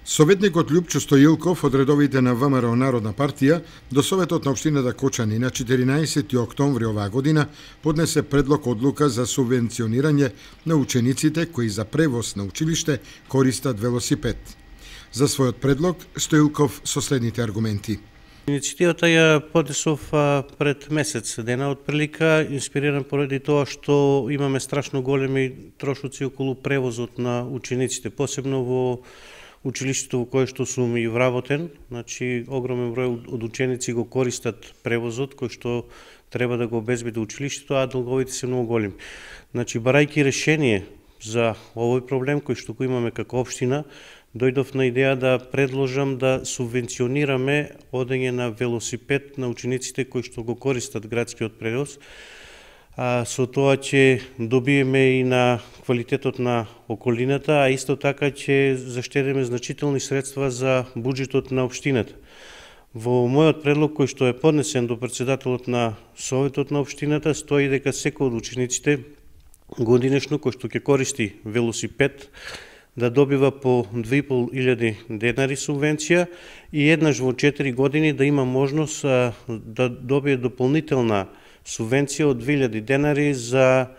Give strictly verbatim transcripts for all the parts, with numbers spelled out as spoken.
Советникот Љупчо Стоилков од редовите на ВМРО Народна партија до Советот на општината Кочани на четиринаесети октомври оваа година поднесе предлог одлука за субвенционирање на учениците кои за превоз на училиште користат велосипед. За својот предлог Стоилков со следните аргументи. Иницијативата ја поднесов пред месец дена отприлика, инспириран поради тоа што имаме страшно големи трошоци околу превозот на учениците, посебно во училиштето во кое што сум и вработен. Значи, огромен број од ученици го користат превозот кој што треба да го обезбеди училиштето, а долговите се многу големи. Значи, барајќи решение за овој проблем кој што го имаме како општина, дојдов на идеја да предложам да субвенционираме одење на велосипед на учениците кои што го користат градскиот превоз. А, со тоа ќе добиеме и на квалитетот на околината, а исто така ќе заштедиме значителни средства за буџетот на општината. Во мојот предлог кој што е поднесен до председателот на Советот на општината стои дека секој од учениците годинешно кој што ќе користи велосипед да добива по две и пол илјади денари субвенција и еднаш во четири години да има можност а, да добие дополнителна субвенција од две илјади денари за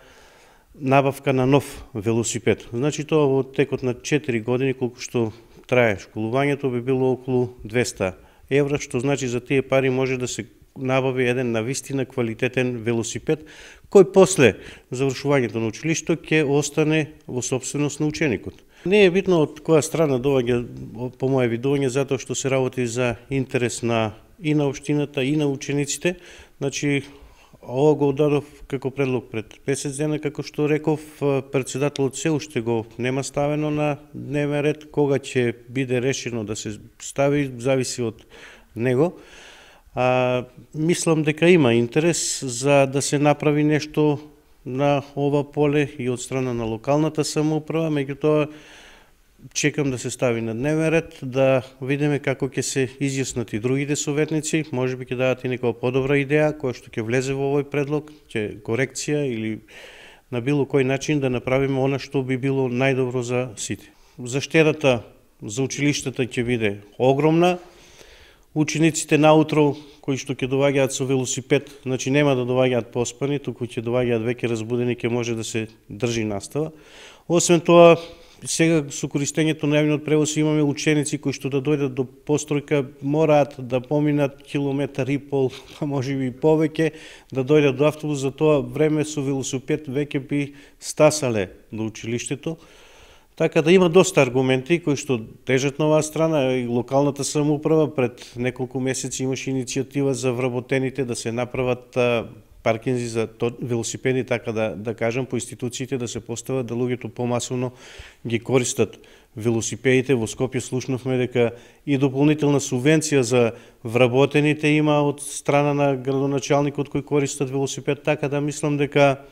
набавка на нов велосипед. Значи тоа во текот на четири години колку што трае школувањето би било околу двеста евра, што значи за тие пари може да се набави еден навистина квалитетен велосипед кој после завршувањето на училиштето ќе остане во собственост на ученикот. Не е битно од која страна доаѓа по моје видување, затоа што се работи за интерес на и на општината и на учениците. Значи, ова го дадов како предлог пред месец дена, како што реков, председателот се уште го нема ставено на дневен ред, кога ќе биде решено да се стави, зависи од него. А, мислам дека има интерес за да се направи нешто на ова поле и од страна на локалната самоуправа, меѓутоа чекам да се стави на дневен ред, да видиме како ќе се изјаснат и другите советници, можеби ќе дадат и некоја подобра идеја која што ќе влезе во овој предлог, ќе корекција или на било кој начин да направиме она што би било најдобро за сите. Заштедата за училиштата ќе биде огромна. Учениците наутро кои што ќе доаѓаат со велосипед, значи нема да доаѓаат поспани, туку ќе доаѓаат веќе разбудени, ќе може да се држи настава. Освен тоа, сега со користењето на јавниот превоз имаме ученици кои што да дојдат до постројка мораат да поминат километар и пол, а можеби и повеќе, да дојдат до автобус, за тоа време со велосипед веќе би стасале до училиштето. Така да има доста аргументи кои што тежат на оваа страна. И локалната самоуправа пред неколку месеци имаше иницијатива за вработените да се направат паркинзи за велосипеди, така да, да кажам, по институциите да се постават да луѓето помасовно ги користат велосипедите. Во Скопје слушнавме дека и дополнителна субвенција за вработените има од страна на градоначалникот кој користат велосипед, така да мислам дека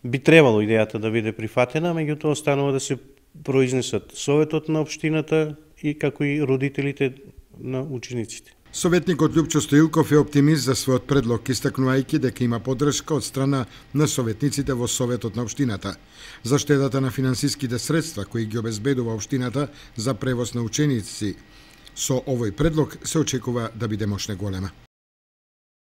би требало идејата да биде прифатена, меѓутоа останува да се произнесат Советот на општината и како и родителите на учениците. Советникот Љупчо Стоилков е оптимист за својот предлог, истакнувајќи дека има поддршка од страна на советниците во Советот на општината. Заштедата на финансиските средства кои ги обезбедува општината за превоз на ученици со овој предлог се очекува да биде мощно голема.